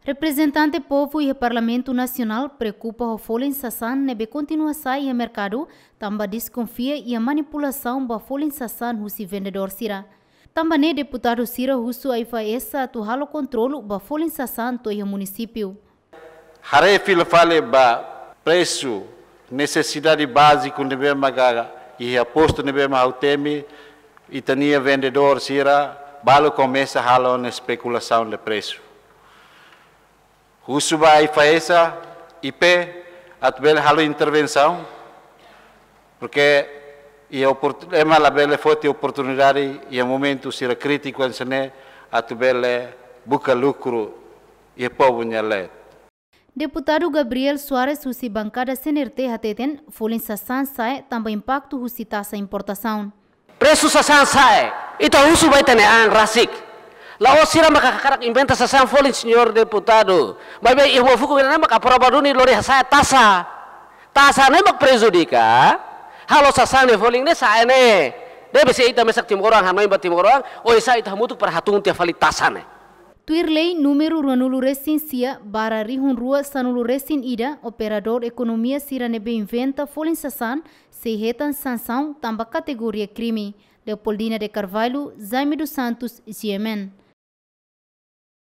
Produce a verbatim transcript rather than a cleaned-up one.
Reprezentante povu iha Parlamentu Nasionál preokupa ho folin sasán ne'ebé kontinua sa'e iha merkadu, tanba deskonfia iha manipulasaun ba folin sasán husi vendedór sira. Tanba ne'e deputadu sira husu AIFAESA atu halo kontrolu ba folin sasán to'o iha munisípiu. Haree fila fali ba presu, nesesidade báziku ne'ebé maka iha postu ne'ebé mak ha'u temi, ita-nia vendedór sira balu komesa halo ona espekulasaun de presu. Husu ba AIFAESA, I P, atu bele halo intervensaun, porke iha oportu-, ema labele foti oportunidade iha momentu sira krítiku hanesan ne'e atu bele buka lukru iha povu nia leet. Deputadu Gabriel Soares husi bankada C N R T hateten, folin sasán sa'e tanba impaktu husi taxa importasaun. Presu sasán sa'e, ita husu ba ita-nia an rasik. La'ós sira maka hakarak inventa sasán folin, señór deputadu. Maibé iha uma fukun ne'e mak aprova duni lori hasa'e taxa. Taxa ne'e mak prejudika halo sasán ne'e folin ne'e sa'e ne'e. Debe se ita mesak timoroan hanoin ba timoroan, oinsá ita hamutuk para hatun tiha fali taxa ne'e. Tuir lei númeru ruanulu resin sia barra rihun rua sanulu resin ida, operadór ekonomia sira ne'ebé inventa folin sasán sei hetan sansaun tanba kategoria krime. Leopoldina de Carvalho, Jaime dos Santos, G M N.